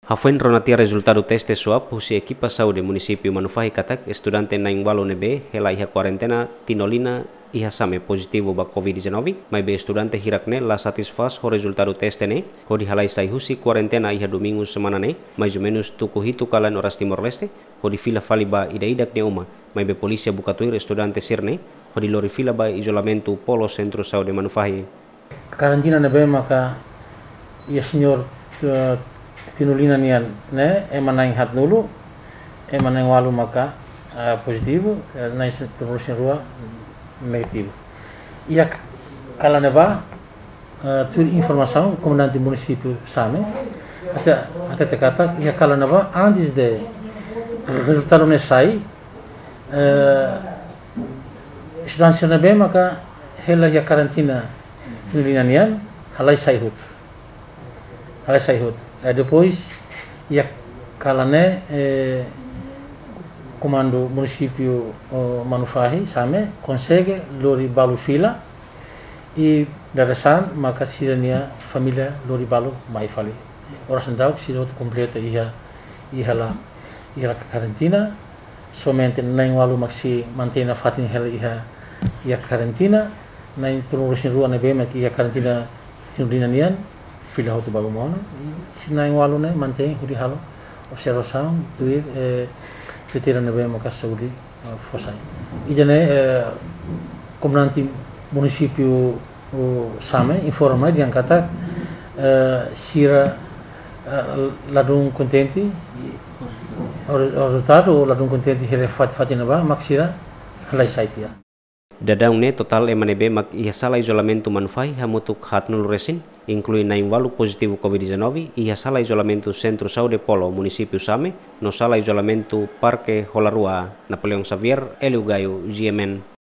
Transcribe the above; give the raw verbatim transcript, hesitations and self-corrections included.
Hafoin rona tiha rezultadu teste swab husi ekipa saúde munisípiu Manufahi katak estudante na'in-ualu ne'ebé hela iha kuarentena Tinolina iha Same pozitivu ba COVID-19, maibé estudante hirak ne'e la satisfás ho rezultadu teste ne'e, hodi halai sai husi kuarentena iha domingu semana ne'e, mais ou menus tuku hitu kalan oras Timor-Leste, hodi fila fali ba ida-idak nia uma, maibé polísia buka tuir estudante sira ne'e, hodi lori fila ba izolamentu Polo Sentru Saúde Manufahi. Karantina ne'ebé maka iha señór, eh, Tinolina nian ne'e, ema na'in-haatnulu, ema na'in-ualu maka, eh, pozitivu, eh, na'in-tolunulu-resin-rua negativu. Iha kalan ne'ebá, eh, tuir informasaun komandante munisípiu Same, até, até te katak, iha kalan ne'ebá, antes de rezultadu ne'e sai, eh, estudante sira ne'ebé maka hela iha karantina Tinolina nian, halai sai hotu. Halai sai hotu. Eh, depois, iha kalan ne'e, eh, komandu munisípiu, oh, Manufahi, Same, konsege lori balu fila, i dadeer-saan maka sira-nia família lori balu mai fali. Oras ne'e daudaun sira hotu kompleta iha, iha la, iha la karantina, somente na'in-ualu mak sei mantein nafatin hela iha, iha karantina, na'in-tolunulu-resin-rua ne'ebé mak iha karantina Tinolina nian, fila hotu balu mós ona, i sira na'in-ualu ne'e mantein hodi halo observasaun, tuir, eh, kritéria ne'ebé maka saúde, eh, fó sai. Ida-ne'e, eh, komandante munisípiu, oh, Same, informa dehan katak, eh, sira, eh, ladún kontente, i, o, rezultadu ladún kontente hela fat-, fatin ne'ebá, mak sira halai sai tiha. Daudaun ne'e totál ema ne'ebé mak iha sala izolamentu Manufahi hamutuk haatnulu-resin, inklui na'in-ualu pozitivu COVID-19, iha sala izolamentu Sentru Saúde Polo munisípiu Same, no sala izolamentu Parke Holarua, Napoleão Xavier, Hélio Gaio, G M N.